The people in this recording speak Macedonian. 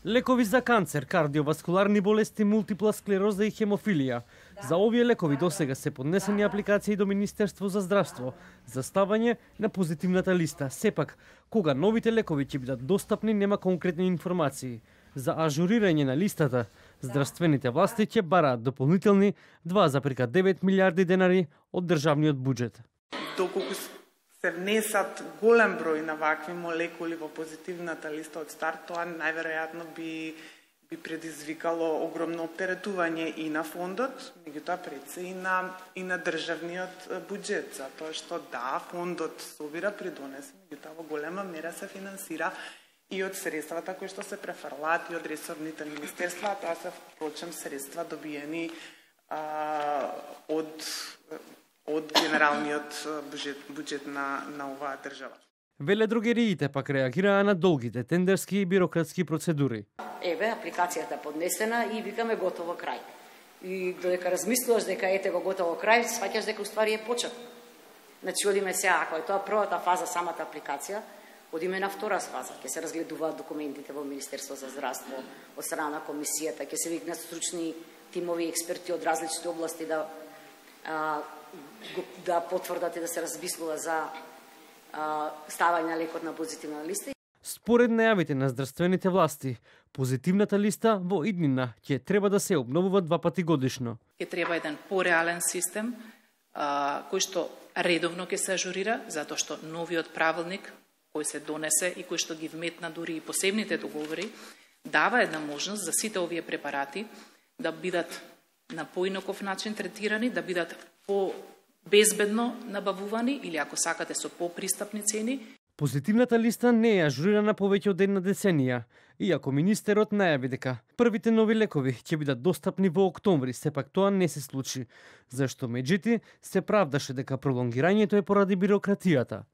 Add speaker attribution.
Speaker 1: Лекови за канцер, кардиоваскуларни болести, мултипла склероза и хемофилија. За овие лекови досега се поднесени апликации до Министерство за здравство за ставање на позитивната листа. Сепак, кога новите лекови ќе бидат достапни, нема конкретни информации. За ажурирање на листата, здравствените власти ќе бараат дополнителни 2,9 милиарди денари од државниот буџет.
Speaker 2: Доколку се внесат голем број на вакви молекули во позитивната листа од старт, тоа најверојатно би предизвикало огромно оптеретување и на фондот, меѓутоа пред се и на државниот буџет, затоа што да, фондот собира придонес, меѓутоа во голема мера се финансира и од средствата кои што се префрлаат и од ресорните министерства, тоа се впрочем средства добиени од генералниот буџет на оваа држава.
Speaker 1: Веледрогериите пак реагираа на долгите тендерски и бирократски процедури.
Speaker 3: Еве, апликацијата поднесена и викаме готово крај. И додека размислуваш дека ете го готово крај, сваќаш дека уствари е почет. Значи, одиме сега, ако е тоа првата фаза, самата апликација, одиме на втора фаза. Ќе се разгледуваат документите во Министерство за здравство, од страна на комисијата, ќе се викнат стручни тимови експерти од различни области да потврдат и да се размислува за ставање на лекот на позитивна листа.
Speaker 1: Според најавите на здравствените власти, позитивната листа во иднина ќе треба да се обновува 2 пати годишно.
Speaker 4: Ќе треба еден пореален систем кој што редовно ќе се ажурира, затоа што новиот правилник кој се донесе и кој што ги вметна дури и посебните договори, дава една можност за сите овие препарати да бидат на поинаков начин третирани, да бидат безбедно набавувани или ако сакате со попристапни цени.
Speaker 1: Позитивната листа не е ажурирана повеќе од една деценија, иако министерот најави дека првите нови лекови ќе бидат достапни во октомври, сепак тоа не се случи, зашто меѓути се правдаше дека пролонгирањето е поради бирократијата.